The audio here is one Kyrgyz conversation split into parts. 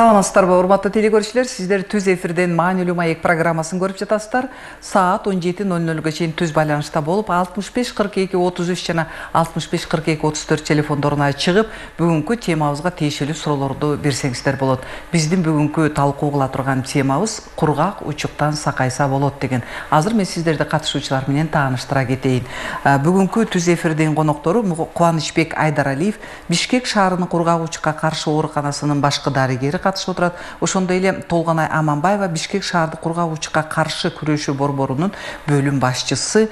Саламатсыздарбы, урматтуу телекөрүүчүлөр, сиздер Түз эфирден Маанилүү маек программасын көрүп жатасыздар. Саат 17:00га чейин түз байланышта болуп, 65 42 33 жана 65 42 34 телефондоруна чыгып, бүгүнкү темабызга тиешелүү суроолорду берсеңиздер болот. Биздин бүгүнкү талкуу кыла турган темабыз кургак учуктан сакайса болот деген. Азыр мен сиздерди катышуучулар менен тааныштыра кетейин. Бүгүнкү Түз эфирдин коноктору Кубанычбек Айдаралиев, Бишкек шаарынын кургак учукка каршы ооруканасынын башкы дарыгери катышып отурат. Ошондой эле Толгонай Аманбаева, Бишкек шаардык кургак учукка каршы күрөшүү борборунун бөлүм башчысы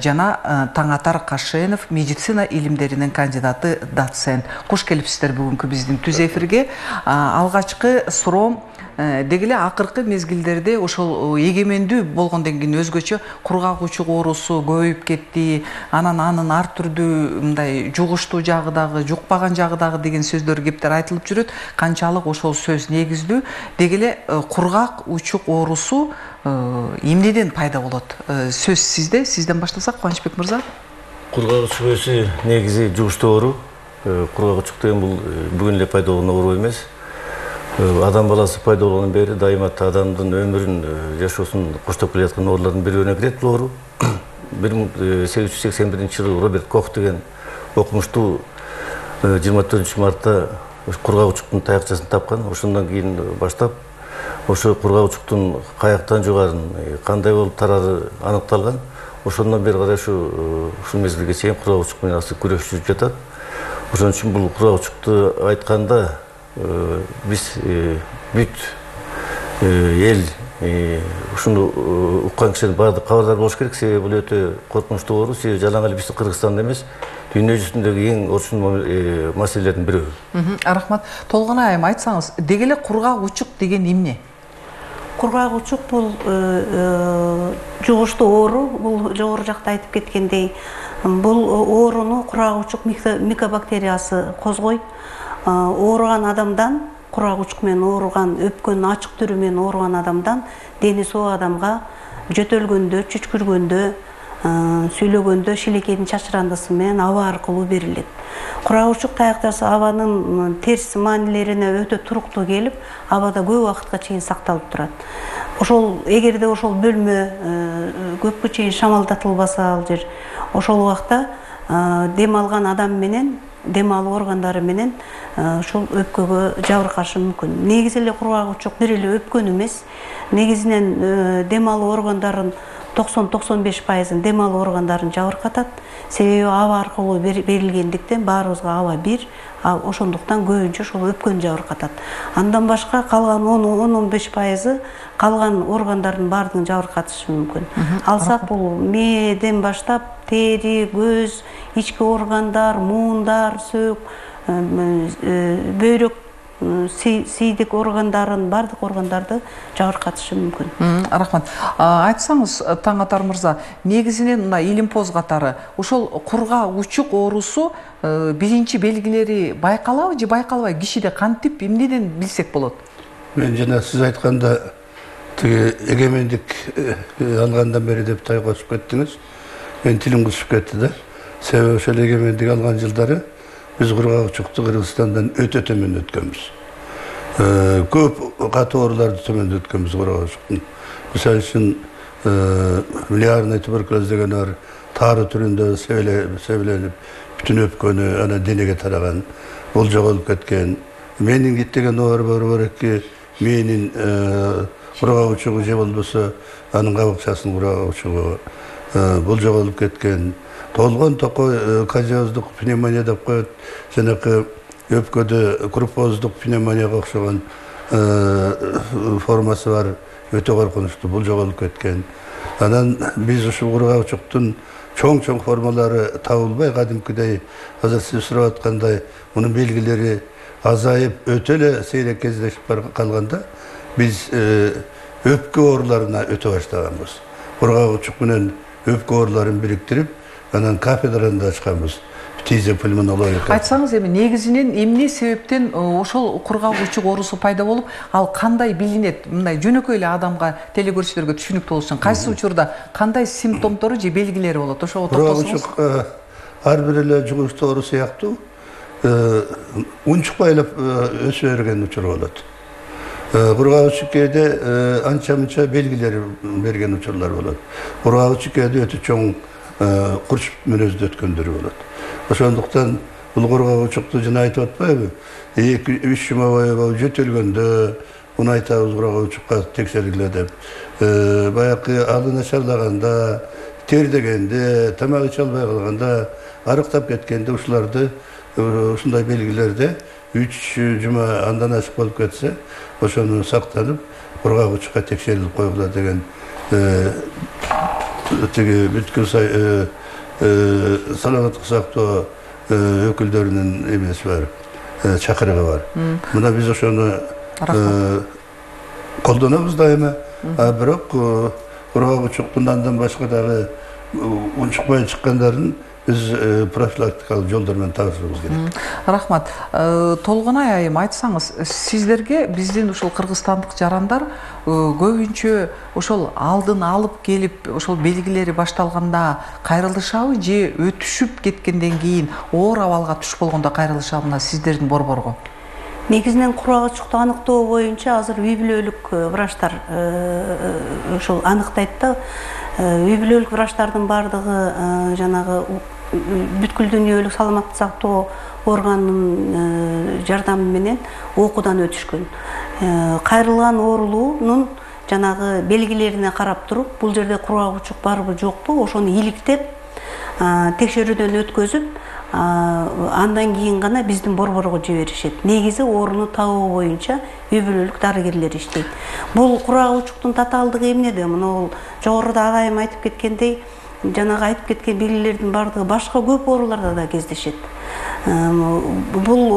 жана Таңатар Кашенов, медицина илимдеринин кандидаты, доцент. Куш келипсиздер бүгүнкү биздин Түз эфирге. Алгачкы суроом деги эле акыркы мезгилдерде ошол эгемендүү болгондон кийин өзгөчө кургак учук оорусу көбөйүп кетти. Анын ар түрдүү мындай жугуштуу жагы дагы, жукпаган жагы дагы деген сөздөр, кептер айтылып жүрөт. Канчалык ошол сөз негиздүү? Деги эле кургак учук оорусу эмнеден пайда болот? Сөз сизде. Сизден баштасак, Кубанычбек мырза. Кургак учук оорусу негизи жугуштуу оору. Кургак учук деген бул бүгүн эле пайда болгон оору эмес. Адам баласы пайда болгондон бери дайыма адамдын өмүрүн, жашоосун коштоп келе жаткан оорулардын бирөөнө кирет бул оору. 1881-жылы Роберт Кох деген окумуштуу 24-мартта кургак учуктун таякчасын тапкан. Ошондон кийин баштап ошо кургак учуктун каяктан жугарын, кандай болуп тарары аныкталган. Ошондон бери карай ушул мезгилге чейин кургак учук менен асыл күрөш жүрүп жатат. Ошон үчүн бул кургак учукту айтканда биз бүт эл ушуну уккан кишилер баардык кабардар болуш керек. Себеби бул өтө коркунучтуу оору. Себеби жалаң эле биздин Кыргызстанда эмес, дүйнө жүзүндөгү эң орчун маселелердин бирөө. Рахмат. Толгонай айым, айтсаңыз, деги эле кургак учук деген эмне? Кургак учук бул жугуштуу оору. Бул жогору жакта айтып кеткендей, бул ооруну кургак учук микобактериясы козгойт. Ооруган адамдан, кургак учук менен ооруган, өпкөн ачык түрү менен ооруган адамдан дени соо адамга жөтөлгөндө, чүчкүргөндө, сүйлөгөндө шилекейдин чачырандысы менен аба аркылуу берилет. Кургак учук таякчасы абанын терс маанилерине өтө туруктуу келип, абада көп убакытка чейин сакталып турат. Ошол эгерде ошол бөлмө көпкө чейин шамалдатылбаса ал жер, ошол убакта дем алган адам менен, дем алуу органдары менен ушул өпкөгө жабыркашы мүмкүн. Негизи эле кургак учук бир эле өпкөн эмес. Негизинен дем алуу органдарын 90-95% дем алуу органдарын жабыркатат. Себеби аба аркылуу берилгендиктен баарыбызга аба бир, ошондуктан көбүнчө ошол өпкөн жабыркатат. Андан башка калган 10-15% калган органдардын баардыгын жабыркатышы мүмкүн. Алсак бул мээден баштап тери, көз, ички органдар, муундар, сөөк, бөйрөк, сийдик органдарын, баардык органдарды жабыркатышы мүмкүн. Рахмат. Айтсаңыз, Таңатар мырза, негизинен мына илимпоз катары ошол кургак учук оорусу биринчи белгилери байкалабы же байкалбайбы? Кишиде кантип, эмнеден билсек болот? Мен жана сиз айтканда тиги эгемендик алгандан бери деп тайгосуп кеттиңиз. Мен тилим кысып кетти да. Себеби ошол эгемендик алган жылдары биз кургак учукту Кыргызстандан өтө төмөн өткөнбүз. Көп катуу ооруларды төмөн өткөнбүз кургак учуктун. Мисалы үчүн мелиарный туберкулез деген бар, тары түрүндө себеленип, бүтүн өпкөнү анан денеге тараган, бул жоголуп кеткен. Менингит деген оору бар эки, менин кургак учугу же болбосо анын кабыкчасынын кургак учугу бул жоголуп кеткен. Толгон токой казиоздук пневмония деп коет, жанакы өпкөдө крупоздук пневмонияга окшогон формасы бар, өтө коркунучтуу, бул жоголуп кеткен. Анан биз ушул кургак учуктун чоң формалары табылбай, кадимкидей азыр сиз сурап аткандай мунун белгилери азайып, өтө эле сейрек кездешип калганда биз өпкө ооруларына өтө баштаганбыз. Кургак учук менен өпкө ооруларын бириктирип, анан кафедраны ачканбыз. Фтизиопульмонология. Айтсаңыз, эми негизинен эмне себептен ошол кургак учук оорусу пайда болуп, ал кандай билинет? Мындай жөнөкөй эле адамга, телекөрүүчүлөргө түшүнүктүү болуш үчүн кайсы учурда кандай симптомдору же белгилери болот? Ошого токтолсоңуз. Кургак учук ар бир эле жугуштуу оору сыяктуу унчукпай эле өсө берген учуру болот. Кургак чүккөдө анча мынча белгилер берген учурлар болот. Кургак чүккөдө өтө чоң курч мүнөздө өткөндөр болот. Ошондуктан бул кургак учукту жана айтып атпайбы? 2-3 жума бою жөтөлгөндө муну айтабыз кургак учукка текшергиле деп. Баягы алы начарлаганда, тердегенде, тамак иче албай калганда, арыктап кеткенде ушуларды ушундай белгилерде 3 жума андан ашык болуп кетсе, ошону сактанып, кургак учукка текшерилип койгула деген тиги бүткүл саламаттык сактоо өкүлдөрүнүн эмеси бар, чакырыгы бар. Мына биз ошону колдонобуз дайыма, бирок кургак учуктун андан башка дагы унчукпай чыккандарын биз профилактикалык жолдор менен табышыбыз керек. Рахмат. Толгонай айым, айтсаңыз, сиздерге биздин ушул кыргызстандык жарандар көбүнчө ошол алдын алып келип, ошол белгилери башталганда кайрылышабы же өтүшүп кеткенден кийин оор абалга түшүп болгондо кайрылышабы мына сиздердин борборго? Негизинен кургак учукту аныктоо боюнча азыр үй бүлөлүк врачтар ошол анықтайт да. Үй бүлөлүк врачтардын бардыгы жанагы бүткүл дүйнөлүк саламаттык сактоо органынын жардамы менен окуудан өтүшкөн. Кайрылган оорулуунун жанагы белгилерине карап туруп, бул жерде кургак учук барбы жокпу, ошону иликтеп, текшерүүдөн өткөзүп, андан кийин гана биздин борборго жиберишет. Негизи ооруну табуу боюнча үй бүлөлүк дарыгерлер иштейт. Бул кургак учуктун татаалдыгы эмнеде? Мына жогоруда агайым айтып кеткендей, жанагы айтып кеткен белгилердин бардыгы башка көп ооруларда да кездешет. Бул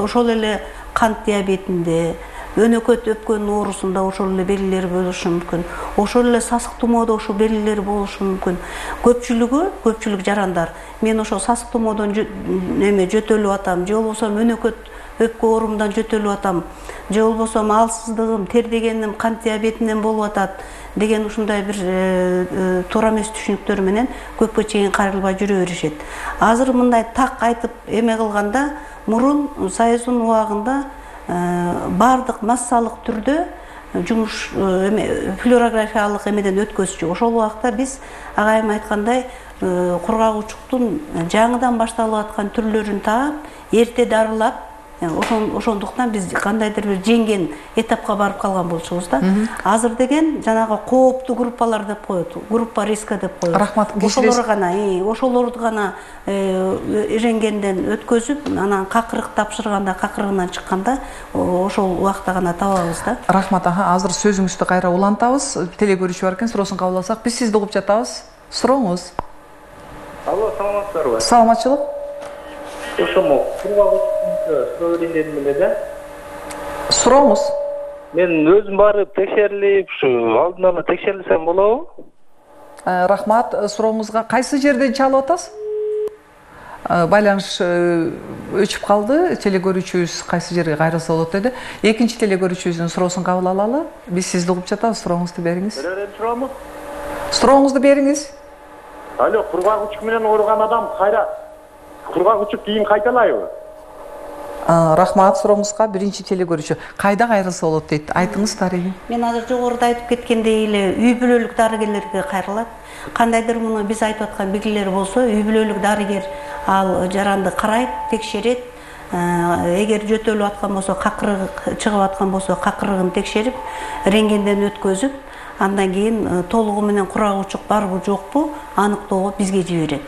ошол эле кант диабетинде, өнөкөт өпкөнүн оорусунда ошол эле белгилер болушу мүмкүн. Ошол эле сасык тумоодо ошол белгилер болушу мүмкүн. Көпчүлүк жарандар мен ошол сасык тумоодон жөтөлүп атам, же болбосо өнөкөт өпкө оорумдан жөтөлүп атам, же болбосо алсыздыгым, тердегеним, кант диабетинен болуп атат деген ушундай бир туура эмес түшүнүктөр менен көпкө чейин кайрылбай жүрө беришет. Азыр мындай так айтып эме кылганда, мурун Союздун убагында бардык массалык түрдө жумуш флюорографиялык эмеден өткөзчү. Ошол убакта биз агайым айткандай кургак учуктун жаңыдан башталып аткан түрлөрүн таап, эрте дарылап, ошондуктан биз кандайдыр бир жеңген этапка барып калган болчубуз да. Азыр деген жанагы кооптуу группалар деп коет, группа риска деп коет. Рахмат. Ошолорду гана иренгенден өткөзүп, анан какырык тапшырганда, какырыгынан чыкканда ошол убакта гана табабыз да. Рахмат аха, азыр сөзүңүздү кайра улантабыз. Теле көрүүчү бар экен, суроосун кабыл алсак, биз сизди угуп жатабыз. Сурооңуз. Алло, саламатсыздарбы? Саламатчылык. Ошомо кургак суроо берейин дедим эле да. Сурооңуз. Мен өзүм барып текшерилип, ушу алдын ала текшерилсем болобу? Рахмат, сурооңузга кайсы жерден чалып атасыз? Байланыш өчүп калды. Теле көрүүчүбүз кайсы жерге кайрылса болот деди. Экинчи теле көрүүчүбүздүн суроосун кабыл алалы. Биз сизди угуп жатабыз. Сурооңузду бериңиз. Суроому? Сурооңузду бериңиз. Алло, кургак учук менен ооруган адам кайра кургак учук кийин кайталайбы? Рахмат, сурооңузга биринчи теле көрүүчү. Кайда кайрылса болот дейт. Айтыңыз дарыгы. Мен азыр жогоруда айтып кеткендей эле үй бүлөлүк дарыгерлерге кайрылат. Кандайдыр муну биз айтып аткан белгилер болсо, үй бүлөлүк дарыгер ал жаранды карайт, текшерет. Эгер жөтөлүп аткан болсо, какырыгы чыгып аткан болсо, какырыгын текшерип, рентгенден өткөзүп, андан кийин толугу менен кургак учук барбы жокпу аныктоого бизге жиберет.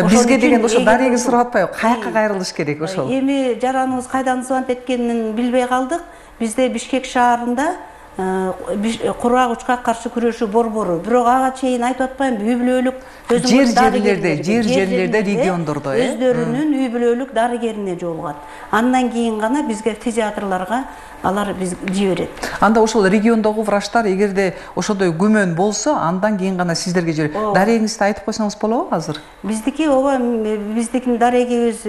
Бизге деген ошо дарыгы сурап атпайбы? Каяка кайрылыш керек ошол? Эми жараныбыз кайдан звонок эткенин билбей калдык. Бизде Бишкек шаарында кургак учукка каршы күрөшүү борбору. Бирок ага чейин айтып атпаймынбы, үй бүлөлүк жерлерде, региондордо өздөрүнүн үй бүлөлүк дарыгерине жолугат. Андан кийин гана бизге фтизиатрларга алар биз жиберет. Анда ошол региондогу врачтар эгерде ошондой күмөн болсо, андан кийин гана сиздерге жиберет. Дарегиңизди айтып койсоңуз болобу азыр? Биздики биздин дарегибиз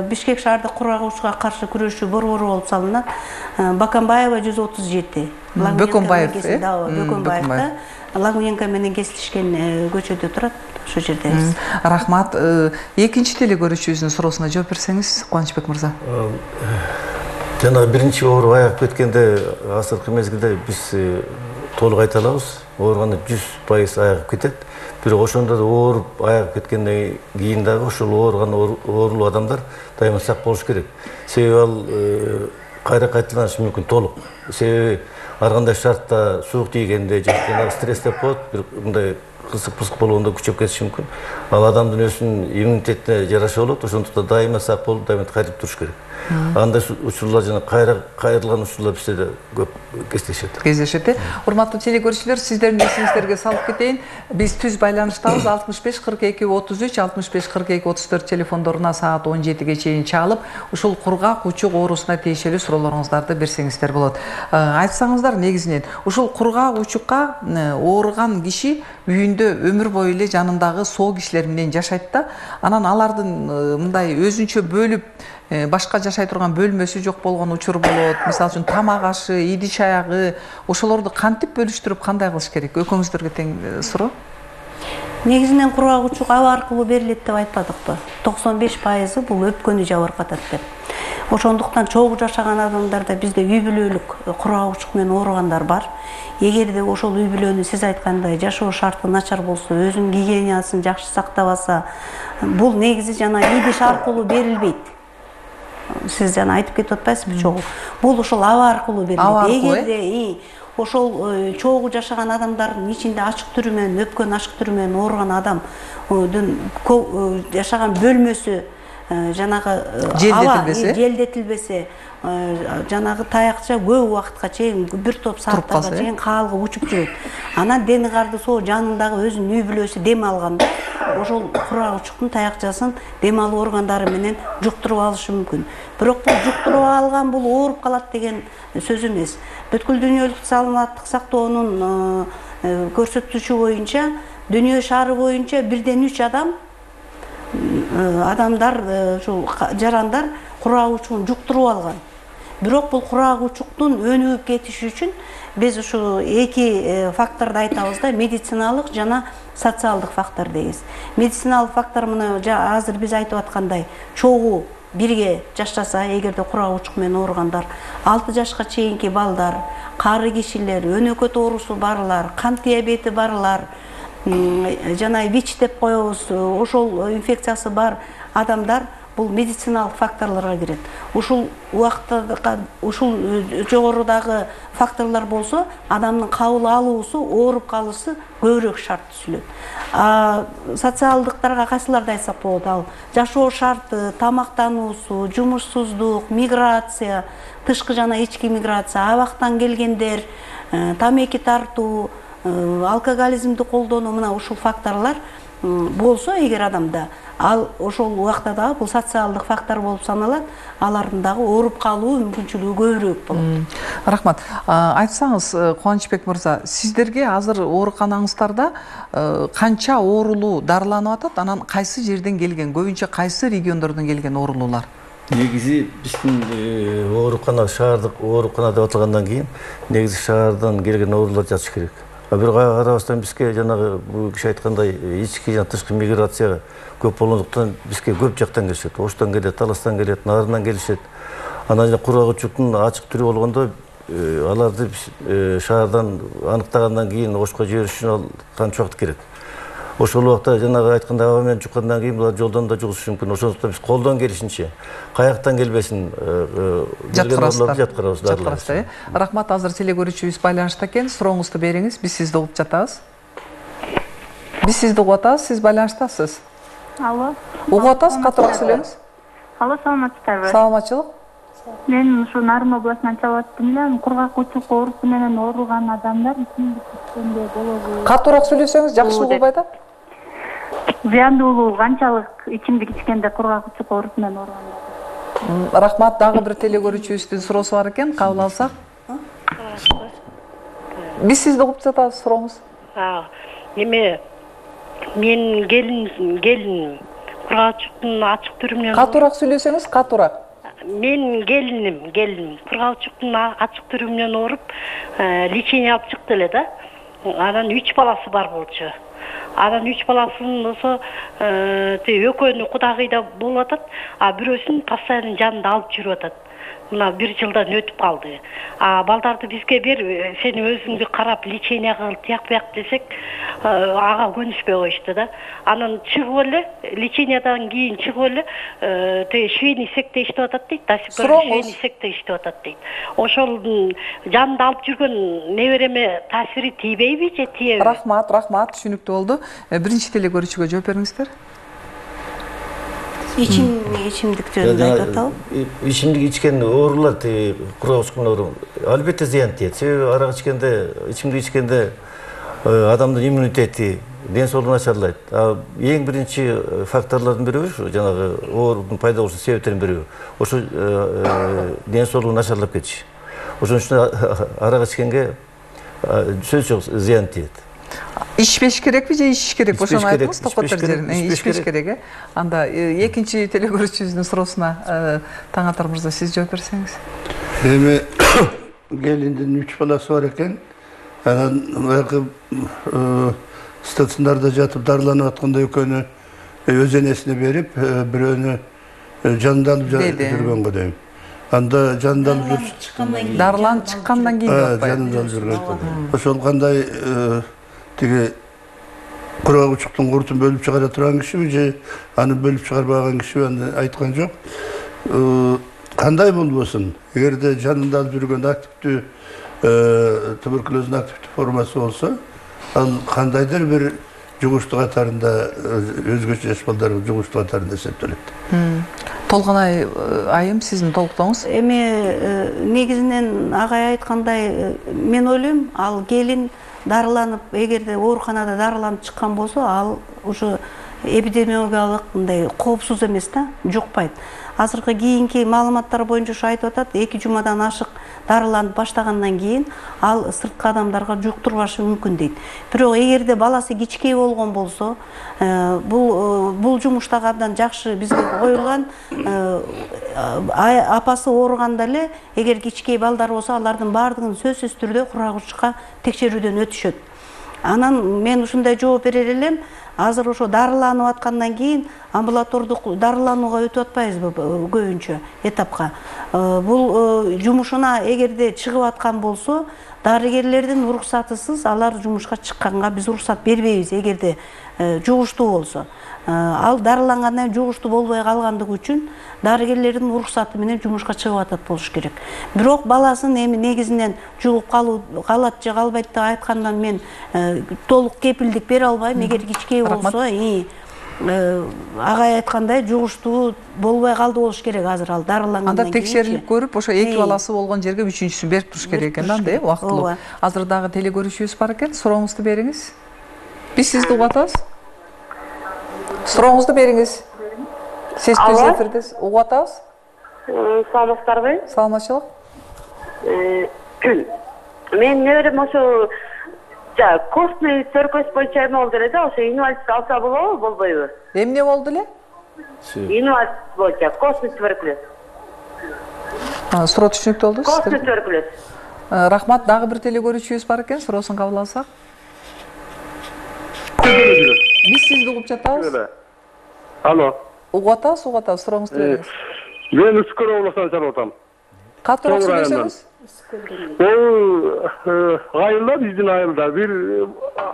Бишкек шаардык кургак учукка каршы күрөшүү борбору болуп салынат. Баканбаева 137. Бөкөнбаев, Бөкөнбаевда Лагуненко менен кесилишкен көчөдө турат, ошол жерде. Рахмат. Экинчи теле көрүүчүбүздүн суроосуна жооп берсеңиз, Кубанычбек мырза. Жана биринчи ооруп айыгып кеткенде азыркы мезгилде биз толук айта алабыз. Ооруганда 100% айыгып кетет. Бирок ошондо да ооруп айыгып кеткенден кийин дагы ошол ооруган оорулуу адамдар дайыма сак болуш керек. Себеби ал кайра кайталанышы мүмкүн толук. Себеби ар кандай шартта суук тийгенде же жанагы стресс деп коет, бир мындай кысык-пысык болгондо күчөп кетиши мүмкүн. Ал адамдын өзүнүн иммунитетине жараша болот. Ошондуктан дайыма сак болуп, дайыма кайтып туруш керек. Андай учурлар жана кайрылган учурлар бизде да көп кездешет. Урматтуу телекөрүүчүлөр, сиздердин эсиңиздерге салып кетейин. Биз түз байланыштабыз. 65 42 33 65 42 34 телефондоруна саат 17ге чейин чалып, ушул кургак учук оорусуна тиешелүү суроолоруңуздарды берсеңиздер болот. Айтсаңыздар, негизинен ушул кургак учукка ооруган киши үйүндө өмүр бою эле жанындагы соо кишилер менен жашайт да, анан алардын мындай өзүнчө бөлүп башка жашай турган бөлмөсү жок болгон учур болот. Мисалы үчүн тамак ашы, идиш аягы, ошолорду кантип бөлүштүрүп кандай кылыш керек? Экөөңүздөргө тең суроо. Негизинен кургак учук аба аркылуу берилет деп айтпадыкпы? 95% бул өпкөнү жабыркатат деп. Ошондуктан чогуу жашаган адамдарда бизде үй бүлөлүк кургак учук менен ооругандар бар. Эгерде ошол үй бүлөнү сиз айткандай жашоо шарты начар болсо, өзүнүн гигиенасын жакшы сактабаса, бул негизи жана идиш аркылуу берилбейт. Сиз жана айтып кетип атпайсызбы чогуу? Бул ошол аба аркылуу берилет. Эгерде ошол чогуу жашаган адамдардын ичинде ачык түрү менен, өпкөн ачык түрү менен ооруган адамдын жашаган бөлмөсү жанагы желдетилбесе, жанагы таякча көп убакытка чейин, бир топ сааттарга чейин каалгып учуп жүрөт. Анан дени карды соо жанындагы өзүнүн үй бүлөсү дем алганда, ошол кургак учуктун таякчасын дем алуу органдары менен жуктуруп алышы мүмкүн. Бирок бул жуктуруп алган бул ооруп калат деген сөз эмес. Бүткүл дүйнөлүк саламаттык сактоонун көрсөтүшү боюнча, дүйнө шаары боюнча 1-3 адамдар, ушул жарандар кургак учугун жуктуруп алган. Бирок бул кургак учуктун өнүгүп кетиши үчүн биз ушу эки факторду айтабыз да, медициналык жана социалдык фактор дейбиз. Медициналык фактор мына азыр биз айтып аткандай, чогуу бирге жашаса, эгерде кургак учук менен ооругандар, 6 жашка чейинки балдар, кары кишилер, өнөкөт оорусу барлар, кант диабети барлар, жана ВИЧ деп коебуз, ошол инфекциясы бар адамдар бул медициналык факторлорго кирет. Ушул убакытта ушул жогорудагы факторлор болсо, адамдын кабыл алуусу, ооруп калышы көбүрөөк шарт түзүлөт. Социалдыктарга кайсыларды айтсак болот? Ал жашоо шарты, тамактануусу, жумушсуздук, миграция, тышкы жана ички миграция, абактан келгендер, тамеки тартуу, алкоголизмди колдонуу, мына ушул факторлор болсо эгер адамда, ал ошол убакта дагы бул социалдык фактор болуп саналат, алардын дагы ооруп калуу мүмкүнчүлүгү көбүрөөк болот. Рахмат. Айтсаңыз, Кубанычбек мырза, сиздерге азыр ооруканаңыздарда канча оорулуу дарыланып атат, анан кайсы жерден келген, көбүнчө кайсы региондордон келген оорулуулар? Негизи биздин оорукана, шаардык оорукана деп аталгандан кийин, негизи шаардан келген оорулар жатыш керек. Бир карабастан бизге жанагы бул киши айткандай ички жана тышкы миграция көп болгондуктан бизге көп жактан келишет. Оштон келет, Таластан келет, Нарынан келишет. Анан кургак учуктун ачык түрү болгондо аларды шаардан аныктагандан кийин Ошко жибериш үчүн ал канча убакыт керек. Ошол убакта жанагы айткандай аба менен жуккандан кийин булар жолдон да жугушушу мүмкүн. Ошондуктан биз колдон келишинче каяктан келбесин жаткырасыздар. Рахмат, азыр телекөрүүчүбүз байланышта экен. Сурооңузду бериңиз, биз сизди угуп жатабыз. Биз сизди угуп атабыз, сиз байланыштасыз. Алло. Угуп атабыз, катуураак сүйлөңүз. Алло, саламатсыздарбы? Саламатчылык. Мен ушу Нарын областынан чалып аттым эле, кургак учук оорусу менен ооруган адамдар ичимдик ичкенде болобу? Катуураак сүйлөсөңүз, жакшы угулбай атат. Зыяндуулугу канчалык ичимдик ичкенде кургак учук оорусу менен ооругандар? Рахмат, дагы бир телекөрүүчүбүздүн суроосу бар экен, кабыл алсак. Биз сизди угуп жатабыз, сурооңуз. Эме мен келин кургак учуктун ачык түрү менен. Катуураак сүйлөсөңүз, катуураак. Мен келиним кургак учуктун ачык түрү менен ооруп, лечение алып чыкты эле да. Анан 3 баласы бар болчу. Анан 3 баласын болсо экөөнү кудагыйда болуп атат, а бирөөсүн постоянно жанында алып жүрүп атат. мына 1 жылдан өтүп калды. Балдарды бизге бер, сен өзүңдү карап лечение кыл, тияк бияк десек, ага көнүшпөй коюшту да. Анан чыгып эле, лечениядан кийин чыгып эле, швейный цехте иштеп атат дейт, до сих пор швейный цехте иштеп атат дейт. Ошол жанында алып жүргөн небереме таасири тийбейби же тийеби? Рахмат, түшүнүктүү болду. Биринчи теле көрүүчүгө жооп бериңиздер. Ичимдик жөнүндө айтып атабы? Ичимдик ичкен оорулар, кургак учкун оору албетте зыян тиет. Себеби арак ичкенде, ичимдик ичкенде адамдын иммунитети, ден соолугу начарлайт. Эң биринчи факторлордун бириби ушу жанагы оорунун пайда болуш себептеринин бириби ошо ден соолугу начарлап кетиш. Ошон үчүн арак ичкенге сөз жок зыян тиет. Ичпеш керекпи же ичиш керек? Ошону айтыңыз, токтотор жерин. Ичпеш керек. Анда экинчи теле көрүүчүбүздүн суроосуна Таңатар мырза сиз жооп берсеңиз. Эми келиндин 3 баласы бар экен. Анан баягы стационарда жатып дарыланып атканда экөөнү өз энесине берип, бирөөнү жанында алып жүргөнгө дейм. Анда жанында алып дарыланып чыккандан кийин атпайбы? Жанында алып жүргөн. Ошол кандай тиги кургак учуктун куртун бөлүп чыгара турган кишиби же аны бөлүп чыгарбаган кишиби аны айткан жок. Кандай болбосун, эгерде жанында алып жүргөн активдүү туберкулоздун активдүү формасы болсо, ал кандайдыр бир жугуштуу катарында өзгөчө жаш балдардын жугуштуу катарында эсептелет. Толгонай айым, сиздин толуктооңуз? Эми негизинен агай айткандай, мен ойлойм, ал келин дарыланып, эгерде ооруканада дарыланып чыккан болсо, ал ушу эпидемиологиялык мындай коопсуз эмес да, жукпайт. Азыркы кийинки маалыматтар боюнча ушу айтып атат, 2 жумадан ашык дарыланып баштагандан кийин ал сырткы адамдарга жуктурбашы мүмкүн дейт. Бирок эгерде баласы кичкей болгон болсо, бул жумуштагы абдан жакшы бизге коюлган, апасы ооруганда эле эгер кичкей балдар болсо, алардын баардыгын сөзсүз түрдө кургак учукка текшерүүдөн өтүшөт. Анан мен ушундай жооп берер элем, азыр ошо дарыланып аткандан кийин амбулатордук дарыланууга өтүп атпайбызбы көбүнчө этапка. Бул жумушуна эгерде чыгып аткан болсо, дарыгерлердин уруксатысыз алар жумушка чыкканга биз уруксат бербейбиз, эгерде жугуштуу болсо. Ал дарылангандан кийин жугуштуу болбой калгандыгы үчүн дарыгерлердин уруксаты менен жумушка чыгып атат болуш керек. Бирок баласын эми негизинен жугуп калат же калбайт деп айткандан мен толук кепилдик бере албайм. Эгер кичкей болсо, агай айткандай жугуштуу болбой калды болуш керек азыр ал дарылангандан кийин. Анда текшерилип көрүп, ошо 2 баласы болгон жерге 3-үчүсүн берип туруш керек экен анда, убактылуу. Азыр дагы теле көрүүчүбүз бар экен, сурооңузду бериңиз. Биз сизди угуп атабыз. Сурооңузду бериңиз. Сиз түз эфирдесиз. Угуп атабыз. Саламатсыздарбы? Саламатчылык. Мен неберем ошо костный циркоз боюнча эме болду эле да, ошо инвалиддик алса болобу, болбойбу? Эмне болду эле? Инвалиддик боюнча костный туберкулез. Суроо түшүнүктүү болду. Костный туберкулез. Рахмат, дагы бир теле көрүүчүбүз бар экен, суроосун кабыл алсак. Биз сизди угуп жатабыз. Алло. Угуп атабыз, сурооңузду бериңиз. Мен Үскөр облусунан чалып атам. Катыраак сүйлөсөңүз? Айылда, биздин айылда бир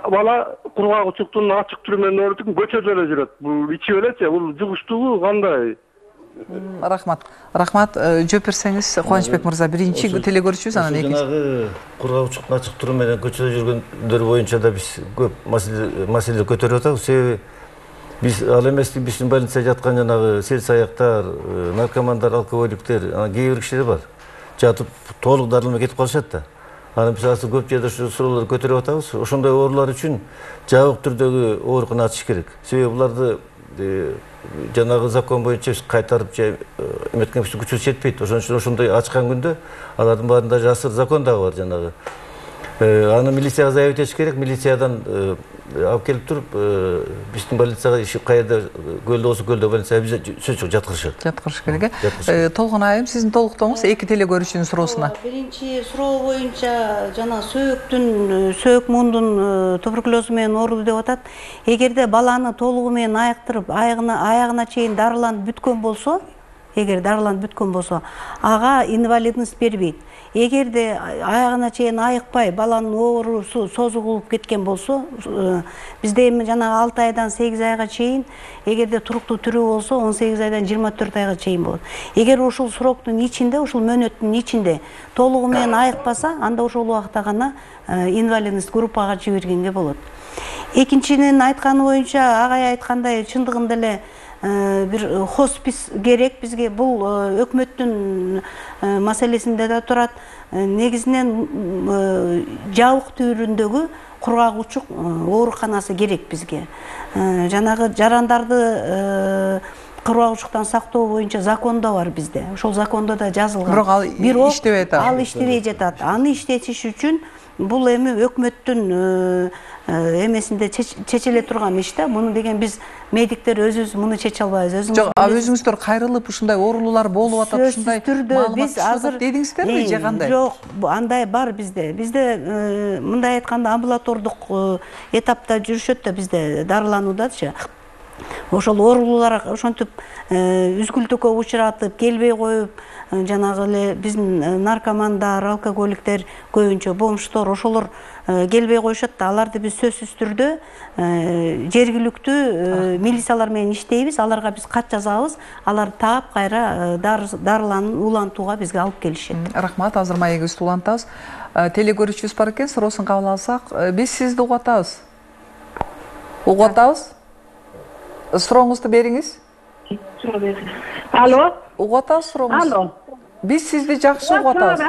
бала кургак учуктун ачык түрү менен ооруп көчөдө эле жүрөт. Бул ичип элечи, бул жугуштугу кандай? Рахмат, жооп берсеңиз Кубанычбек мырза, биринчи теле көрүүчүбүз, анан экинчи. Жанагы кургак учуктун ачык туру менен көчөдө жүргөндөр боюнча да биз көп маселе көтөрүп атабыз. Себеби биз ал эмес, биздин больницада жаткан жанагы селс аяктар, наркомандар, алкоголиктер, кээ бир кишилер бар. Жатып толук дарыланбай кетип калышат да. Анан биз азыр көп жерде ушу суроолорду көтөрүп атабыз. Ошондой оорулар үчүн жабык түрдөгү оорукана ачыш керек. Себеби буларды жанагы закон боюнча биз кайтарып же эметкен күчүбүз жетпейт. Ошон үчүн ошондой ачкан күндө алардын баарында жасыр закон дагы бар жанагы. Аны милицияга заявить этиш керек. Милициядан алып келип туруп, биздин больницага каерде көлдө болсо көлдө больницага биз сөз жок жаткырышат. Жаткырыш керек. Толгон айым, сиздин толуктооңуз эки теле көрүүчүнүн суроосуна. Биринчи суроо боюнча жана сөөк мундун туберкулезу менен ооруду деп атат. Эгерде баланы толугу менен айыктырып, аягына чейин дарыланып бүткөн болсо, эгер дарыланып бүткөн болсо, ага инвалидность бербейт. Эгерде аягына чейин айыкпай баланын оорусу созулуп кеткен болсо, бизде эми жана 6 айдан 8 айга чейин, эгерде туруктуу түрү болсо 18 айдан 24 айга чейин болот. Эгер ушул сроктун ичинде, ушул мөөнөттүн ичинде толугу менен айыкпаса, анда ошол убакта гана инвалидность группага жибергенге болот. Экинчинин айтканы боюнча, агай айткандай, чындыгында эле бир хоспис керек бизге. Бул өкмөттүн маселесинде да турат. Негизинен жабык түрүндөгү кургак учук ооруканасы керек бизге. Жанагы жарандарды кургак учуктан сактоо боюнча закондо бар бизде. Ошол закондо да жазылган. Бирок ал иштебей атат. Ал иштебей жатат. Аны иштетиш үчүн бул эми өкмөттүн эмесинде чечиле турган иш да. Муну деген биз медиктер өзүбүз муну чече албайбыз. Жок, өзүңүздөр кайрылып ушундай оорулуулар болуп атат, ушундай биз азыр дедиңиздерби же кандай? Жок, андай бар бизде. Бизде мындай айтканда амбулатордук этапта жүрүшөт да бизде дарылануудачы. Ошол оорулуулар ошентип үзгүлтүккө учуратып, келбей коюп, жанагы эле биздин наркомандар, алкоголиктер, көбүнчө бомждор ошолор келбей коюшат да. Аларды биз сөзсүз түрдө жергиликтүү милициялар менен иштейбиз. Аларга биз кат жазабыз. Алар таап кайра дарыланып улантууга бизге алып келишет. Рахмат, азыр маегибизди улантабыз. Телегөрүүчүбүз бар экен, суроосун кабыл алсак. Биз сизди угуп атабыз. Угуп атабыз? Сурооңузду бериңиз. Алло. Угуп атабыз сурооңузду. Алло. Биз сизди жакшы угуп атабыз.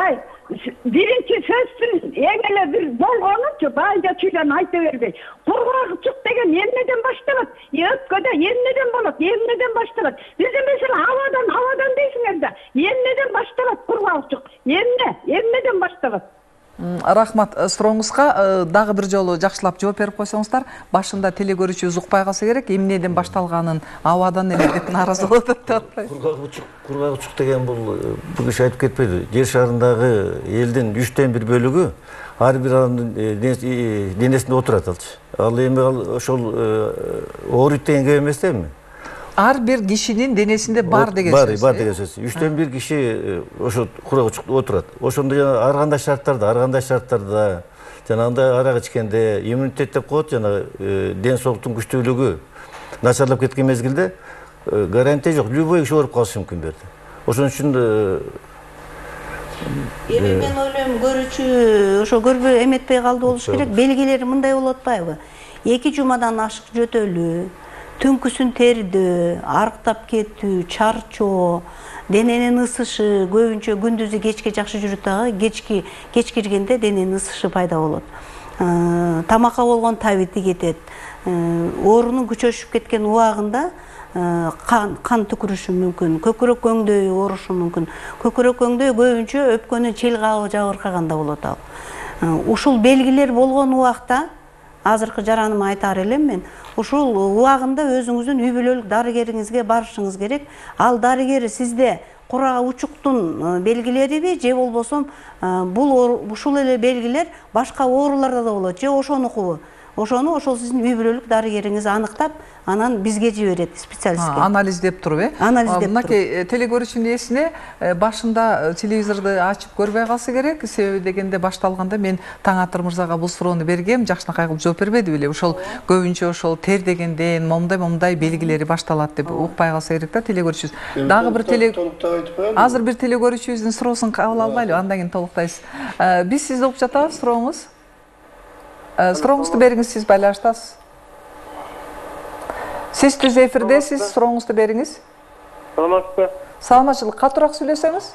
Биринчи сөздүн эң эле бир болгонучу байынча чүйлөн айта бербей. Кургак учук деген эмнеден башталат? Өпкөдө эмнеден болот? Эмнеден башталат? Бизде мисалы авадан дейсиңер да. Эмнеден башталат кургак учук? Эмнеден башталат? Рахмат, сурооңузга дагы бир жолу жакшылап жооп берип койсоңуздар. Башында телегөрүүчүбүз укпай калса керек, эмнеден башталганын, авадан эле деп нааразы болуп атат. Кургак учук деген бул киши айтып кетпеди. Жер шарындагы элдин 3/1 бөлүгү ар бир адамдын денесинде отурат алчы. Ал эми ошол ооруйт дегенге эмес да эми. Ар бир кишинин денесинде бар деген сөз. Бар деген сөз. 3/1 киши ошо кургак учукта отурат. Ошондо жана ар кандай шарттарда жанагындай арак ичкенде иммунитет деп коет, жана ден соолуктун күчтүүлүгү начарлап кеткен мезгилде гарантия жок, любой киши ооруп калышы мүмкүн берди. Ошон үчүн Эми мен ойлойм, көрүүчү ошо көрбөй эметпей калды болуш керек. Белгилери мындай болуп атпайбы? 2 жумадан ашык жөтөлүү, түнкүсүн тердөө, арыктап кетүү, чарчоо, дененин ысышы, көбүнчө күндүзү кечке жакшы жүрүт дагы, кеч киргенде дененин ысышы пайда болот. Тамакка болгон табити кетет. Оорунун күчөшүп кеткен убагында кан түкүрүшү мүмкүн, көкүрөк көңдөй оорушу мүмкүн. Көкүрөк көңдөй көбүнчө өпкөнүн чел кабы жабыркаганда болот ал. Ушул белгилер болгон убакта, азыркы жараныма айтаар элем мен, ушул убагында өзүңүздүн үй бүлөлүк дарыгериңизге барышыңыз керек. Ал дарыгер сизде кургак учуктун белгилериби же болбосо ушул эле белгилер башка ооруларда да болот же ошонукубу? Ошол сиздин үй бүлөлүк дарыгериңиз аныктап, анан бизге жиберет, специалистке. Анализдеп туруп, Анализдеп туруп. Мынакей телегөрүүчүнүн эсине башында телевизорду ачып көрбөй калса керек. Себеби дегенде башталганда мен Таңатыр мырзага бул суроону бергем, жакшынакай кылып жооп бербеди беле. Ошол көбүнчө ошол тер дегенден момундай белгилери башталат деп укпай калса керек да телегөрүүчүбүз. Дагы бир азыр бир телегөрүүчүбүздүн суроосун кабыл албайлы, андан кийин толуктайбыз. Биз сизди угуп жатабыз, сурооңуз. Сурооңузду бериңиз, сиз байланыштасыз. Сиз түз эфирдесиз, сурооңузду бериңиз. Саламатсызбы? Саламатчылык, катуураак сүйлөсөңүз.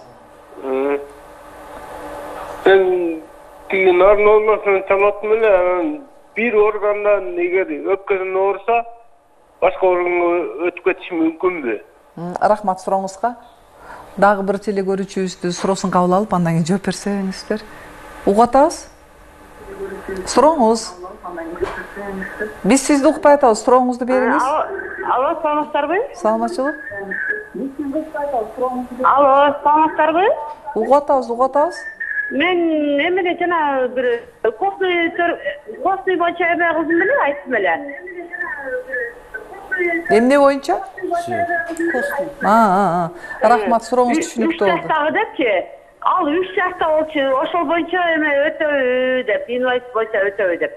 Мен тиги нарын оорунан чаматтым эле, бир органдан эгер өпкөдөн ооруса, башка органга өтүп кетиши мүмкүнбү? Рахмат сурооңузга. Дагы бир телегөрүүчүбүздүн суроосун кабыл алып, андан кийин жооп берсеңиздер. Угуп атабыз? Сурооңуз. Биз сизди укпай атабыз, сурооңузду бериңиз. Алло, саламатсыздарбы? Саламатчылык. Алло, саламатсыздарбы? Угуп атабыз. Мен эмне жана бир костный боюнча эме кылдым эле, айттым эле. Эмне боюнча? Рахмат, сурооңуз түшүнүктүү болду. 3 жаштагы депчи, ал 3 жашта болчу, ошол боюнча эме өтөбү деп, инвалид боюнча өтөбү деп.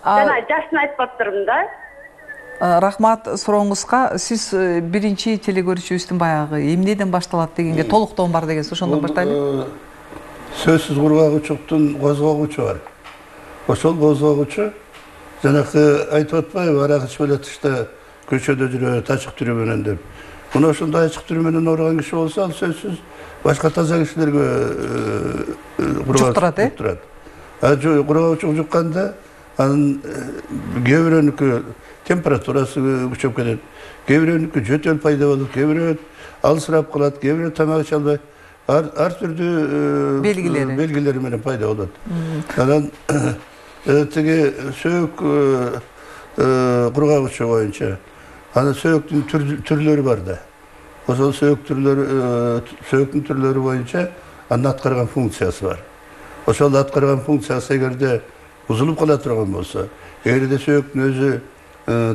Жана жашын айтып атырмын да. Рахмат сурооңузга. Сиз биринчи телекөрүүчүбүздүн баягы эмнеден башталат дегенге толуктоон бар деген ошондон баштайлы. Сөзсүз кургагучуктун козгогучу бар. Ошол козгогучу жанакы айтып атпайбы, арак ичип элетиште көчөдө жүрөт ачык түрү менен деп. Мына ошондой ачык түрү менен ооруган киши болсо, ал сөзсүз башка таза кишилерге жуктурат. Кургагучук жукканда анын кээ бирөөнүкү температурасы күчөп кетет, кээ бирөөнүкү жөтөл пайда болот, кээ бирөө алсырап калат, кээ бирөө тамак иче албай, ар түрдүү белгилери менен пайда болот. Анан тиги сөөк кургагучу боюнча анын сөөктүн түрлөрү бар да. Ошол сөөктүн түрлөрү боюнча анын аткарган функциясы бар. Ошол аткарган функциясы эгерде бузулуп кала турган болсо, эгерде сөөктүн өзү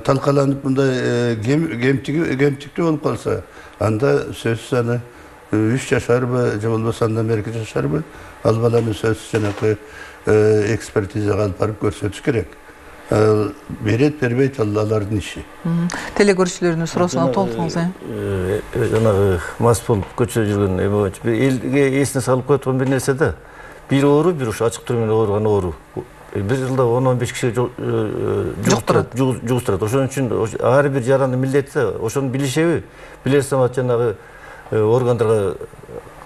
талкаланып мындай кемтиктүү болуп калса, анда сөзсүз аны 3 жашарбы, же болбосо андан берки жашарбы, ал баланы сөзсүз жанакы экспертизага алып барып көрсөтүш керек. Берет, бербейт, алардын иши. Телекөрүүчүлөрдүн суроосуна толуктуңуз. Жанагы мас болуп көчөдө жүргөн эме боюнча элге эсине салып коюлган бир нерсе да. Бир оору, бир ушу ачык түрү менен ооруган оору. Бир жылда 10-15 кишиге жугуштурат. Ошон үчүн ар бир жарандын милдети ошону билишеби? Билер самат жанагы органдарга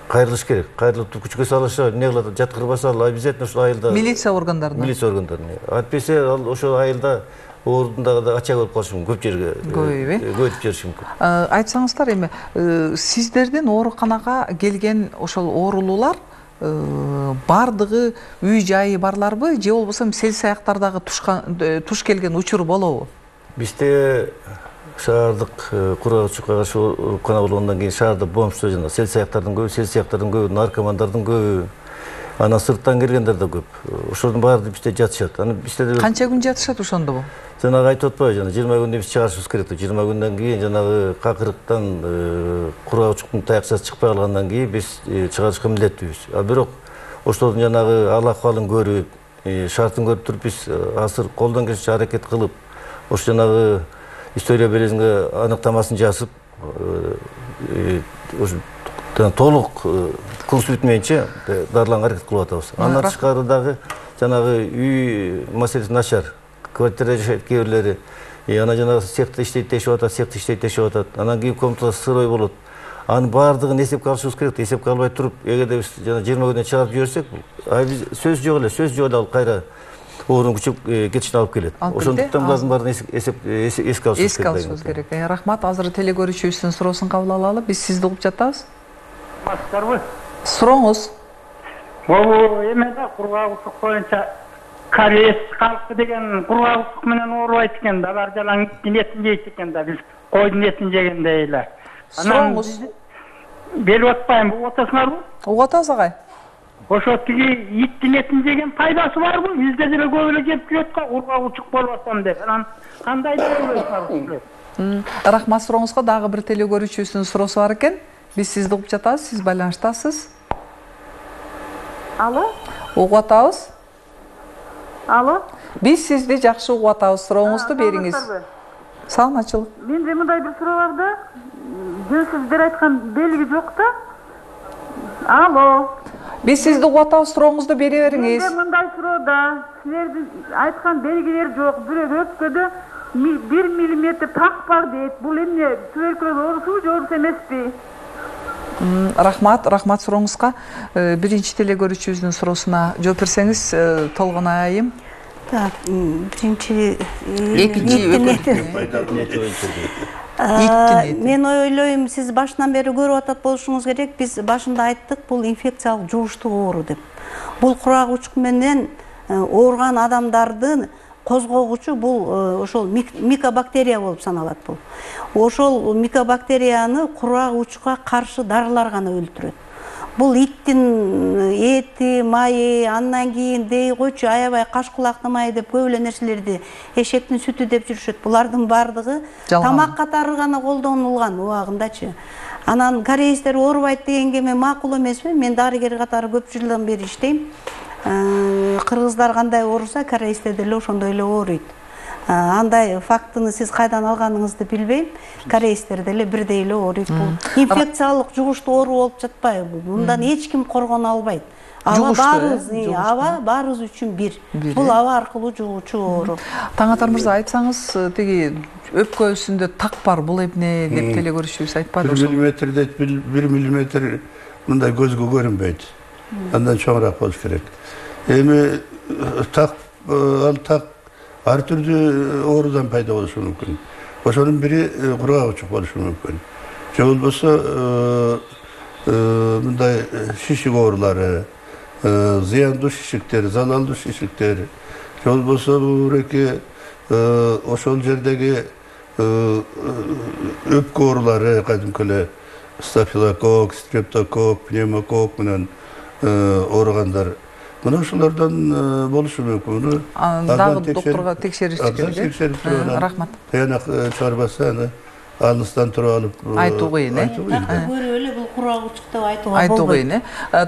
кайрылыш керек. Кайрылып күчкө салышы, эмне кылат, жаткырбаса ал обязательно ошол айылда милиция органдарына. Антпесе ал ошол айылда оорудун да ачак болуп калышы мүмкүн, көп жерге көбөйтүп жибериши мүмкүн. Айтсаңыздар эми, сиздердин ооруканага келген ошол оорулуулар бардыгы үй жайы барларбы, же болбосо сел саяктардагы туш келген учур болобу? Бизде шаардык кургагучукка каршы оорукана болгондон кийин шаарда бомждор жана сел саяктардын көбү, наркомандардын көбү, анан сырттан келгендер да көп. Ошолордун баары бизде жатышат. Анан бизде канча күн жатышат ошондобу? Жанагы айтып атпайбы, жана 20 күндө биз чыгарышыбыз керек. 20 күндөн кийин жанагы какырыктан кургагучуктун таякчасы чыкпай калгандан кийин биз чыгарышка милдеттүүбүз. А бирок ошолордун жанагы ал акыбалын көрүп, шартын көрүп туруп биз азыр колдон келишинче аракет кылып, ошо жанагы история белезинге аныктамасын жасып, толук кылыш бүтмөйүнчө дарыланга аракет кылып атабыз. Андан тышкары дагы жанагы үй маселеси начар. Квартирада жашайт кээ бирлери, анан жанагы цехта иштейт дешип атат, цехта иштейт дешип атат. Анан кийин комнатада сырой болот. Анын баардыгын эсепке алышыбыз керек. Эсепке албай туруп, эгерде биз жана 20 күндөн чыгарып жиберсек, сөз жок эле, ал кайра оорунун күчөп кетишине алып келет. Ошондуктан булардын баарын эске алышыбыз керек. Рахмат, азыр телекөрүүчүбүздүн суроосун кабыл алалы. Биз сизди угуп жатабыз. Масдарбы? Сурооңуз. Бул эмеде кургагучук боюнча кариес калкы деген кургагучук менен оорубайт экен да, алар жалаң иттин этин жейт экен да, биз койдун этин жегендей эле. Сурооңуз. Берип атпайм, угуп атасыңарбы? Угуп атабыз агай. Ошо тиги иттин этин жеген пайдасы барбы? Бизде деле көп эле жеп жүрөт го, кургагучук болбосом деп. Анан кандай да ойлойсуңар? Рахмат, сурооңузга дагы бир телекөрүүчүбүздүн суроосу бар экен. Биз сизди угуп жатабыз, сиз байланыштасыз. Алло? Угуп атабыз. Алло? Биз сизди жакшы угуп атабыз, сурооңузду бериңиз. Саламатчылык. Менде мындай бир суроо бар да. Сиздер айткан белги жок да. Алло? Биз сизди угуп атабыз, сурооңузду бере бериңиз. Менде мындай суроо да. Силердин айткан белгилер жок. Бирок өпкөдө 1 миллиметр так бар дейт. Бул эмне? Туберкулез оорусубу же оорус эмеспи? Рахмат сурооңузга. Биринчи телекөрүүчүбүздүн суроосуна жооп берсеңиз толгон айым. Так, биринчи мен ойлойм, сиз башынан бери көрүп атат болушуңуз керек. Биз башында айттык, бул инфекциялык жугуштуу оору деп. Бул кургагучук менен ооруган адамдардын козгогучу бул ошол микобактерия болуп саналат бул. Ошол микобактерияны кургагучукка каршы дарылар гана өлтүрөт. бул иттин эти, майы, андан кийин дей койчу аябай каш кулактын майы деп көп эле нерселерди, эшектин сүтү деп жүрүшөт. Булардын баардыгы тамак катары гана колдонулган убагындачы. Анан кореецтер оорубайт дегенге мен макул эмесмин. Мен дарыгер катары көп жылдан бери иштейм. Кыргыздар кандай ооруса, кореецтер деле ошондой эле ооруйт. Андай фактыны сиз кайдан алганыңызды билбейм. Кореецтер деле бирдей эле ооруйт. Бул инфекциялык жугуштуу оору болуп жатпайбы? Мындан эч ким коргоно албайт. Аба баарыбыз үчүн бир. Бул аба аркылуу жугуучу оору. Таңатар мырза, айтсаңыз, тиги өпкөсүндө так бар, бул эмне деп телегөрүшүүбүз айтпады? 1 миллиметрде 1 миллиметр мындай көзгө көрүнбөйт. Андан чоңураак болуш керек. Эми так ар түрдүү оорудан пайда болушу мүмкүн. Ошонун бири кургак учук болушу мүмкүн. Же болбосо мындай шишик оорулары, зыяндуу шишиктер, залалдуу шишиктер, же болбосо буреки ошол жердеги өпкө оорулары, кадимки эле стафилококк, стрептококк, пневмококк менен ооругандар. Мына ошолордон болушу мүмкүн. Дагы доктурга текшериш керек. Рахмат. Тыянак чыгарбаса, аны алыстан туруп алып айтуу кыйын, көрүп эле бул кургак учук деп айтууга айтуу кыйын.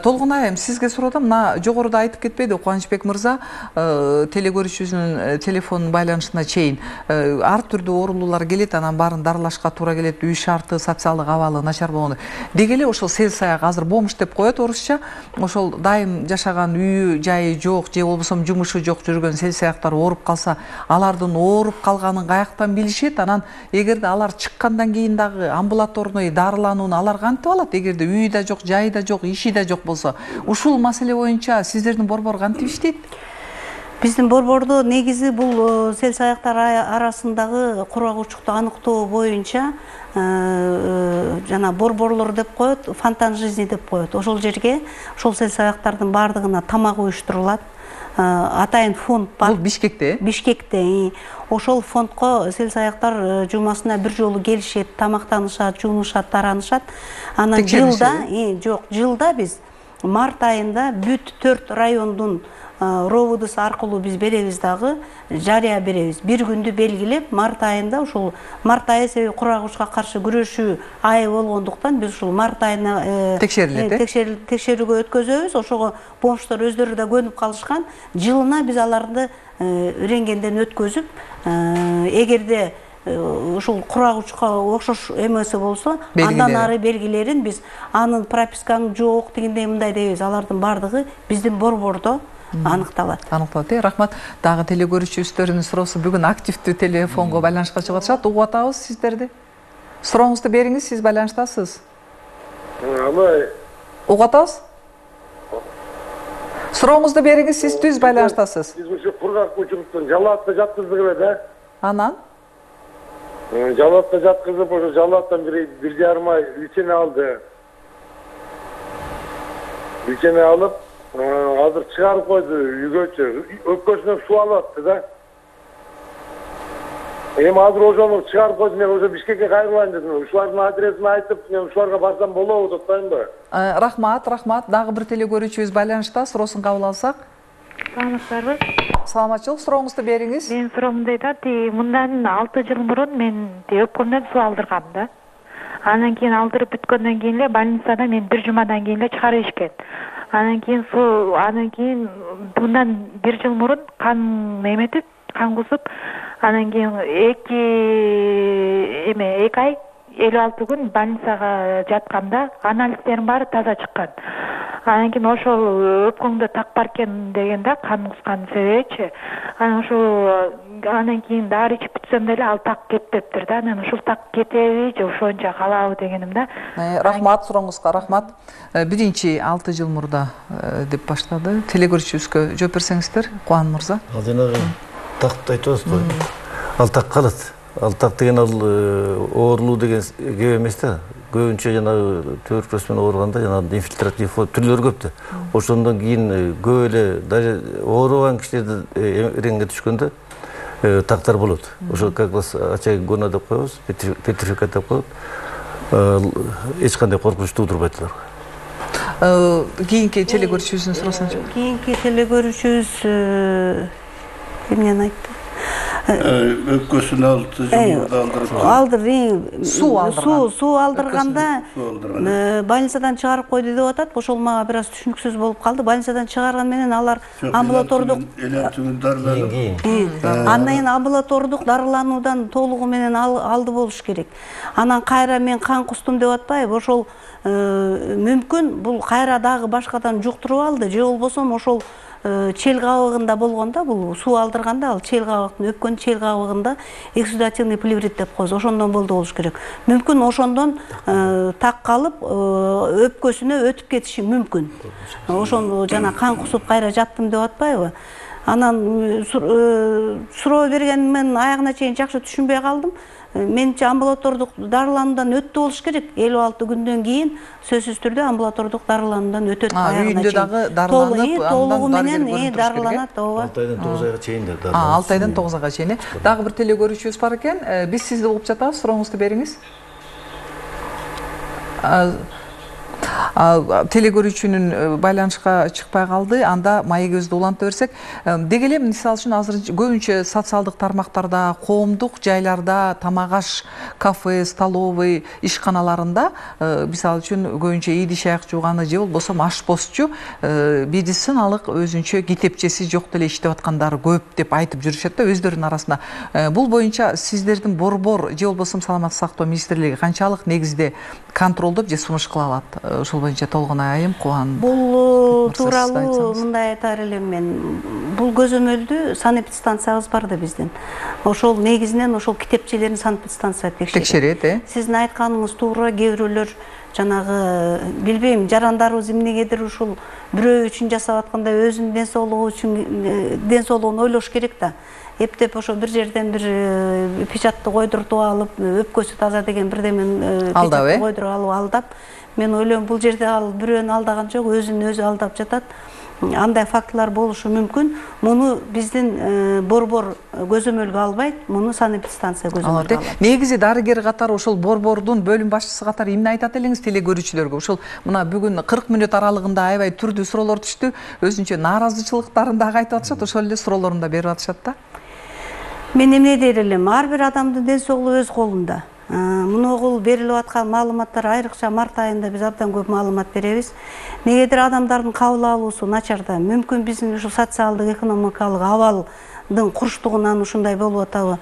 Толгон айым, сизге сурасам, мына жогоруда айтып кетпеди Кубанычбек мырза, телегөрүүчүбүздүн телефон байланышына чейин ар түрдүү оорулуулар келет, анан баарын дарылашка туура келет, үй шарты, социалдык абалы начар болгондо. Деги эле ошол сел саяк азыр бомж деп коет орусча, ошол дайым жашаган үйү, жайы жок, же болбосо жумушу жок жүргөн сел саяктар ооруп калса, алардын ооруп калганын каяктан билишет? Анан эгерде алар чыккандан кийин дагы амбулаторный дарыланууну алар кантип алат? Эгерде үйү да жок, жайы да жок, иши да жок болсо, ушул маселе боюнча сиздердин борбор кантип иштейт? Биздин борбордо негизи бул сел саяктар арасындагы кургак учукту аныктоо боюнча жана борборлор деп коет, фонтан жизни деп коет. Ошол жерге ошол сел саяктардын баардыгына тамак уюштурулат. Атайын фонд бар. Бул Бишкекте? Бишкекте. Ошол фондко сел саяктар жумасына бир жолу келишет, тамактанышат, жуунушат, таранышат. Анан жылда биз март айында бүт 4 райондун робудысы аркылуу биз беребиз дагы, жарыя беребиз. Бир күндү белгилеп, март айында ушул март айы себеби кургак учукка каршы күрөшүү айы болгондуктан биз ушул март айына текшерүүгө өткөзөбүз. Ошого бомждор өздөрү да көнүп калышкан. Жылына биз аларды рентгенден өткөзүп, эгерде ушул кургак учукка окшош эмеси болсо, андан ары белгилерин биз анын пропискаң жок дегендей мындай дейбиз. Алардын баардыгы биздин борбордо аныкталат. Рахмат. Дагы телегөрүүчүбүздөрдүн суроосу бүгүн активдүү телефонго байланышка чыгып атышат. Угуп атабыз сиздерди. Сурооңузду бериңиз, сиз байланыштасыз. Угуп атабыз? Сурооңузду бериңиз, сиз түз байланыштасыз. Биз ушу кургак учуктун Жалаатта жаткыздык эле да. Анан? Жалаатта жаткызып, ошо Жалааттан 1,5 ай лечение алды. Лечение алып, азыр чыгарып койду үйгөчү. Өпкөсүнөн суу алып атты да. Эми азыр ошону чыгарып койду, мен ошо Бишкекке кайрылайын дедим. Ушулардын адресин айтып, мен ушуларга барсам болобу деп атпаймынбы? Рахмат. Дагы бир телегөрүүчүбүз байланышта, суроосун кабыл алсак. Саламатсыздарбы? Саламатчылык, сурооңузду бериңиз. Мен суроом дейт, мындан 6 жыл мурун мен өпкөмдөн суу алдыргам да. Анан кийин алдырып бүткөндөн кийин эле больницадан мен 1 жумадан кийин эле чыгарып ишкен. Анан кийин мындан 1 жыл мурун кан эметип, кан кусуп, анан кийин 2 ай 56 күн больницага жатканда анализдерим баары таза чыккан. Анан кийин ошол өпкөңдө так бар экен дегенде кан кускан себебичи. Анан кийин дары ичип бүтсөм деле ал так кетпептир да. Анан ушул так кетеби же ошончо калабы дегеним да. Рахмат, сурооңузга рахмат. 6 жыл мурда деп баштады. Телегөрүүчүбүзгө жооп берсеңиздер, Кубан мырза. Ал жанагы такты айтып атасыз. Ал так калат. Ал так деген ал оорулуу деген кеп эмес да. Көбүнчө жанагы туберкулез менен ооруганда жанагы инфильтратив түрлөрү көп да. Ошондон кийин көп эле даже оорубаган кишилерди рентгенге түшкөндө тактар болот. Ошо как раз ачагона деп коебуз, петрификат деп коет. Эч кандай коркунуч туудурбайт аларга. Кийинки телегөрүүчүбүздүн суроосуна. Кийинки телегөрүүчүбүз эмнени айтты? Өпкөсүн суу алдырганда больницадан чыгарып койду деп атат. Ошол мага бир аз түшүнүксүз болуп калды. Больницадан чыгарган менен алар амбулатордук андан кийин амбулатордук дарылануудан толугу менен алды болуш керек. Анан кайра мен кан кустум деп атпайбы? Ошол мүмкүн бул кайра дагы башкадан жуктуруп алды же болбосо ошол чел кабыгында болгондо бул суу алдырганда ал чел кабыктын өпкөн чел кабыгында эксудативный плеврит деп коебуз. Ошондон болду болуш керек. Мүмкүн ошондон так калып өпкөсүнө өтүп кетиши мүмкүн. Ошону жана кан кусуп кайра жаттым деп атпайбы? Анан суроо бергенин мен аягына чейин жакшы түшүнбөй калдым. Менимче амбулатордук дарылануудан өттү болуш керек. 56 күндөн кийин сөзсүз түрдө амбулатордук дарылануудан өтөт. Үйүндө дагы дарыланып, толугу менен дарыланат. 6 айдан 9 айга чейин да. 6 айдан 9 айга чейин. Дагы бир телегөрүүчүбүз бар экен. Биз сизди угуп жатабыз. Сурооңузду бериңиз. Телегөрүүчүнүн байланышка чыкпай калды. Анда маегибизди уланта берсек, деги эле мисалы үчүн азыр көбүнчө социалдык тармактарда, коомдук жайларда, тамак аш, кафе, столовый ишканаларында мисалы үчүн көбүнчө идиш аяк жууганы же болбосо ашпозчу медициналык өзүнчө китепчеси жок деле иштеп аткандары көп деп айтып жүрүшөт да өздөрүнүн арасында. Бул боюнча сиздердин борбор же болбосо саламаттык сактоо министрлиги канчалык негизде контролдоп же сунуш кыла алат? Ошол боюнча толгон айым Кубан. Бул тууралуу мындай айтар элем мен. Бул көзөмөлдү санэпидстанциябыз бар да биздин. Ошол негизинен ошол китепчелерин санэпидстанция текшерет. Сиздин айтканыңыз туура, кээ бирөөлөр жанагы билбейм, жарандарыбыз эмнегедир ушул бирөө үчүн жасап атканда өзүнүн ден соолугун ойлош керек да. Эптеп ошо бир жерден бир печатты койдуртуп алып, өпкөсү таза деген бирдемен печатты койдуруп алып алдап, мен ойлойм бул жерде ал бирөөнү алдаган жок, өзүн өзү алдап жатат. Андай фактылар болушу мүмкүн. Муну биздин борбор көзөмөлгө албайт, муну санэпидстанция көзөмөлгө алат. Негизи дарыгер катары ошол борбордун бөлүм башчысы катары эмне айтат элеңиз телегөрүүчүлөргө? Ошол мына бүгүн 40 мүнөт аралыгында аябай түрдүү суроолор түштү. Өзүнчө нааразычылыктарын дагы айтып атышат, ошол эле суроолорун да берип атышат да. Мен эмне дер элем? Ар бир адамдын ден соолугу өз колунда. Муногул берилип аткан маалыматтар айрыкча март айында биз абдан көп маалымат беребиз. Негедир адамдардын кабыл алуусу начарда. Мүмкүн биздин ушу социалдык, экономикалык абалдын курчтугунан ушундай болуп атабы?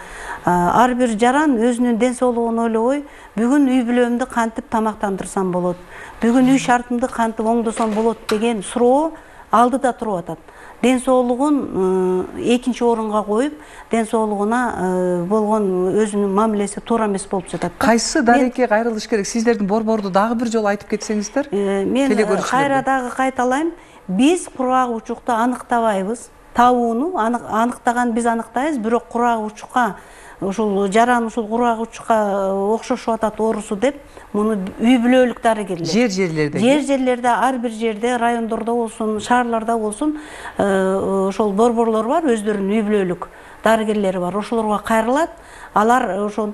Ар бир жаран өзүнүн ден соолугун ойлобой, бүгүн үй бүлөмдү кантип тамактандырсам болот? Бүгүн үй шартымды кантип оңдосом болот деген суроо алдыда туруп атат. Ден соолугун экинчи орунга коюп, ден соолугуна болгон өзүнүн мамилеси туура эмес болуп жатат. Кайсы дареке кайрылыш керек? Сиздердин борборду дагы бир жолу айтып кетсеңиздер. Мен кайра дагы кайталайм. Биз кургак учукту аныктабайбыз. Табууну аныктаган биз аныктайбыз, бирок кургак учукка ушул жаран ушул кургак учукка окшошуп атат оорусу деп, муну үй бүлөлүк дарыгерлер. Жерлерде, ар бир жерде, райондордо болсун, шаарларда болсун, ошол борборлор бар, өздөрүнүн үй бүлөлүк дарыгерлери бар. Ошолорго кайрылат. Алар ошол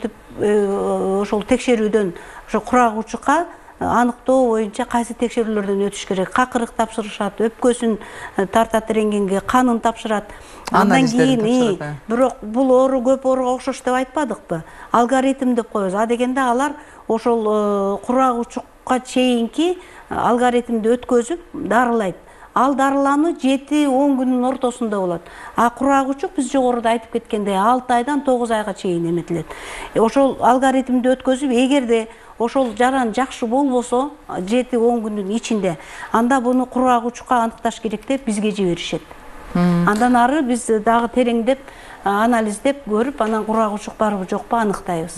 текшерүүдөн, ошо кургак учукка аныктоо боюнча кайсы текшерүүлөрдөн өтүш керек? Какырык тапшырышат, өпкөсүн тартат рентгенге, канын тапшырат. Андан кийин, бирок бул оору көп ооруга окшош деп айтпадыкпы? Алгоритм деп коебуз. А дегенде алар ошол кургак учукка чейинки алгоритмди өткөзүп дарылайт. Ал дарылануу 7-10 күнүн ортосунда болот. А кургак учук биз жогоруда айтып кеткендей 6 айдан 9 айга чейин эметилет. Ошол алгоритмди өткөзүп, эгерде ошол жаран жакшы болбосо 7-10 күндүн ичинде, анда буну кургак учукка аныкташ керек деп бизге жиберишет. Андан ары биз дагы тереңдеп анализдеп көрүп, анан кургак учук барбы жокпу аныктайбыз.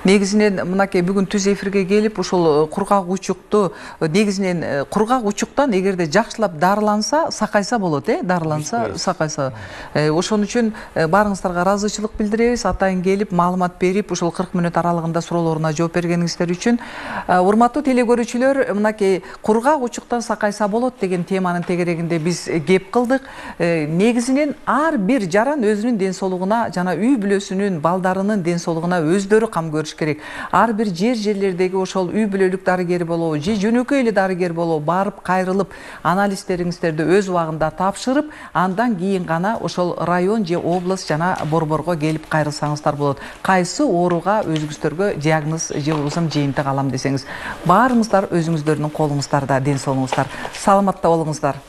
Негизинен мынакей бүгүн түз эфирге келип, ушул кургак учукту негизинен кургак учуктан эгерде жакшылап дарыланса, сакайса болот, дарыланса, сакайса. Ошон үчүн баарыңыздарга ыраазычылык билдиребиз. Атайын келип, маалымат берип, ушул 40 мүнөт аралыгында суроолоруна жооп бергениңиздер үчүн. Урматтуу телегөрүүчүлөр, мынакей кургак учуктан сакайса болот деген теманын тегерегинде биз кеп кылдык. Негизинен ар бир жаран өзүнүн ден соолугуна жана үй бүлөсүнүн, балдарынын ден соолугуна өздөрү кам көрүш керек. Ар бир жерлердеги ошол үй бүлөлүк дарыгер болобу же жөнөкөй эле дарыгер болобу барып кайрылып анализтериңиздерди өз убагында тапшырып, андан кийин гана ошол район же область жана борборго келип кайрылсаңыздар болот. Кайсы ооруга өзүңүздөргө диагноз же болбосо жыйынтык алам десеңиз, баарыңыздар өзүңүздөрдүн колуңуздарда, ден соолугуңуздар. Саламатта болуңуздар.